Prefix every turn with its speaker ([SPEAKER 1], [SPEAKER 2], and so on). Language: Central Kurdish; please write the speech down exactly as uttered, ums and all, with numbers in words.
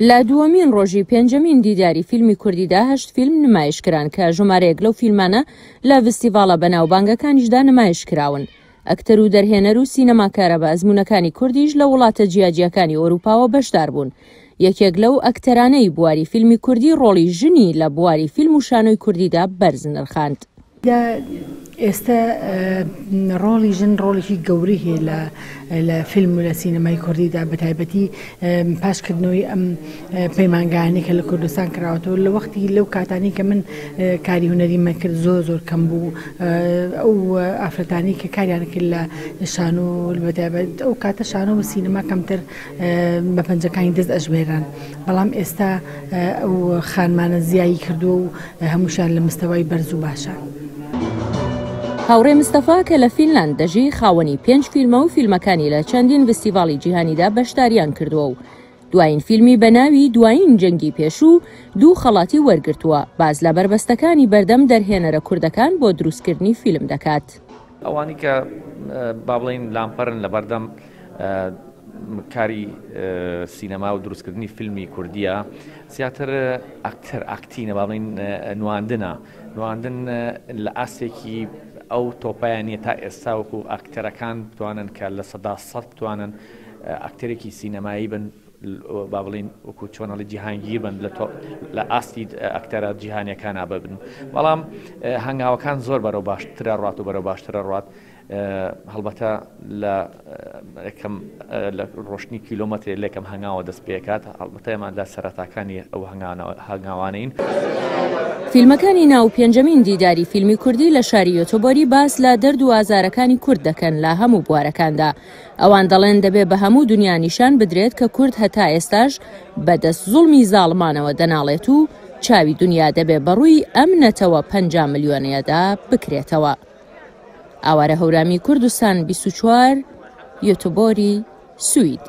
[SPEAKER 1] لە دووەمین ڕۆژی پێنجەمین دیداری فیلمی کوردیدا هەشت فیلم نمایش کران کە ژمارەیەک لەو فیلمانە لە ڤستیڤاڵە بەناوبانگەکانیشدا نمایش کراون. ئەکتەر و دەرهێنەر و سینەماکارە بە ئەزموونەکانی کوردیش لە وڵاتە جیاجیاکانی ئەوروپاوە بەشدار بوون. یەکێک لەو ئەکتەرانەی بواری فیلمی کوردی ڕۆڵی ژنی لە بواری فیلم و شانۆی کوردیدا بەرز نرخاند.
[SPEAKER 2] ئێستا ڕۆڵی ژن ڕۆڵێکی گەورەی هەیە لە لە فیلم و لە سینەمای کوردیدا، بە تایبەتی پاشکردنەوەی ئەم پەیمانگانەی کە لە کوردستان کراوەتەوە. لە وەختی لەو کاتانەی کە من کاری هونەریمە کرد زۆر زۆر کەم بوو ئەو ئافرەتانی کە کاریان کرد لە شانۆ، بە تایبەت ئەو کاتە شانۆ و سینەما کەمتر بە پەنجەکانی دەست ئەژمێران، بەڵام ئێستا ئەو خانمانە زیایی کردووە و هەمووشیان لە مستەوای بەرز و باشە.
[SPEAKER 1] هاوڕێ مستەفا کە لە فینلاند دەژی خاوەنی پێنج فیلمە و فیلمەکانی لە چەندین فستیڤاڵی جیهانیدا بەشداریان کردووە و دوایین فیلمی بە ناوی دوایین جەنگی پێشوو دوو خەڵاتی وەرگرتووە. باز لە بەربەستەکانی بەردەم دەرهێنەرە کوردەکان بۆ دروستکردنی فیلم دەکات.
[SPEAKER 3] ئەوانی کە با بڵێین لامپەرن لە بەردەم کاری سینەما و دروستکردنی فیلمی کوردیە، زیاتر ئەکتەر ئاکتینە، با بڵێین نواندنە. نواندن لە ئاستێکی ئەو تۆپایان نییە تا ئێستا وەکو ئەکتەرەکان بتوانن کە لە سەدا سەد بتوانن ئەکتەرێکی سینەمایی بن، با بڵین وەکو چۆنەڵی جیهانگیر بن لە ئاستی ئەکتەرە جیهانیەکانە ببن. بەڵام هەنگاوەکان زۆر بەرەو باشترە ڕات و بەرەو باشترە ڕات. هەڵبەتە لە یەکەم لە ڕۆشتنی کیلۆمەترێک لێکەم هەنگاوە دەست پێکات، هەڵبەتە ئێمە لە سەرەتاکانی ئەو هەنگاوانەین.
[SPEAKER 1] فیلمەکانی ناو پێنجەمین دیداری فیلمی کوردی لە شاری یۆتۆبۆری باس لە دەرد و ئازارەکانی کورد دەکەن لە هەموو بوارەکاندا. ئەوان دەڵێن دەبێ بە هەموو دنیا نیشان بدرێت کە کورد هەتا ئێستاش بەدەست زوڵمی زاڵمانەوە دەناڵێت و چاوی دنیا دەبێ بەڕووی ئەم نەتەوە پەنجا ملیۆنەیەدا بکرێتەوە. ئاوارە هەورامی، کوردستان بیست و چوار، یۆتۆبۆری، سوید.